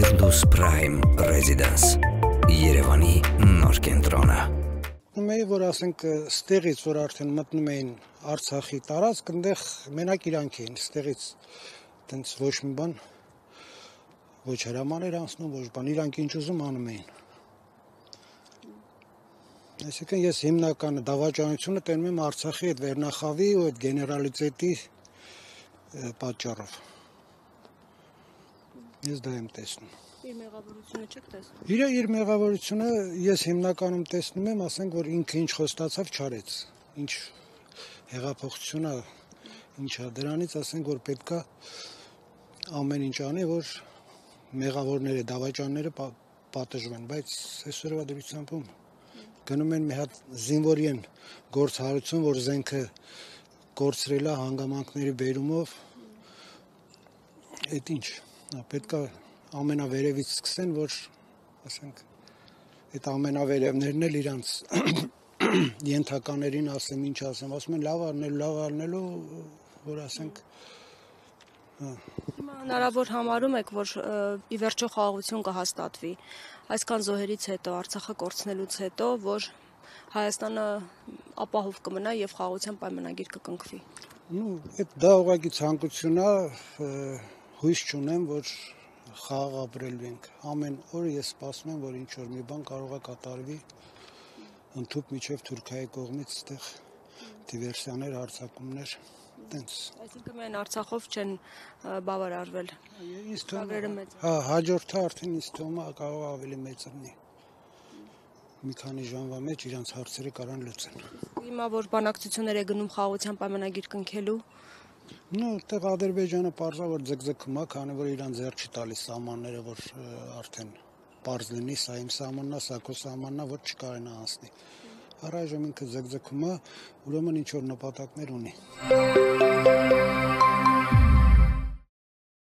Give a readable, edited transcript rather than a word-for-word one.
Firdaus Prime Residence Երևանի նոր կենտրոնը Մեի որ ասենք ստեղից որ արդեն մտնում էին Արցախի տարածք, այնտեղ մենակ իրանք էին, ստեղից տենց ոչ մի բան ոչ հրաման էր անցնում, ոչ բան, իրանք ինչ ուզում անում էին։ Այսինքն ես հիմնական դավաճանությունը տենում եմ Արցախի այդ վերնախավի ու այդ գեներալիտետի պատճառով։ Ես դա եմ տեսնում։ Իր մեղավորությունը չեք տեսնում։ Իր մեղավորությունը ես հիմնականում տեսնում եմ, ասենք որ ինքը ինչ խոստացավ չարեց։ Ինչ հեղափոխություն է, ինչա դրանից ասենք որ պետքա ամեն ինչ անի, որ մեղավորները, դավաճանները պատժվեն, բայց այսօրվա դրությամբ գնում են մի հատ զինվորի են գործ հարություն, որ զենքը կորցրել է հանգամանքների բերումով։ Այդ ինչ պետք է ամենավերևից սկսեն, որ ասենք այդ ամենավերևներն էլ իրանց ենթականերին ասեմ, ինչ ասեմ, ասում են լավ առնելու, որ ասենք Հիմա հնարավոր համարում եք, որ ի վերջո խաղաղություն կհաստատվի այսքան զոհերից հետո, Արցախը կորցնելուց հետո, որ Հայաստանը ապահով կմնա եւ խաղաղության պայմանագիր կկնքվի։ Դա ուղղակի ցանկություն է, հույս չունեմ, որ խաղաղ ապրելու ենք։ Ամեն օր ես սպասում եմ, որ ինչ որ մի բան կարող է կատարվի ընդհուպ միջև Թուրքիայի կողմից այդտեղ դիվերսիաներ, հարձակումներ, տենց։ Այսինքն միայն Արցախով չեն բավարարվել։ Ինձ թվում է, հաջորդը արդեն ինձ թվում է կարող ավելի մեծ լինի։ Մի քանի ժամվա մեջ իրանց հարցերը կարան լուծեն։ Հիմա որ բանակցություններ է գնում խաղաղության պայմանագիր կնքելու, այդտեղ Ադրբեջանը պարզա որ ձգձգում է, քանի որ իրան ձեռ չի տալիս սահմանները, որ արդեն պարզ լինի, սա իմ սահմանն է, սա քո սահմանն է, որ չկարենա անցնի։ Առայժմ ինքը ձգձգում է, ուրեմն ինչ որ նպատակներ ունի։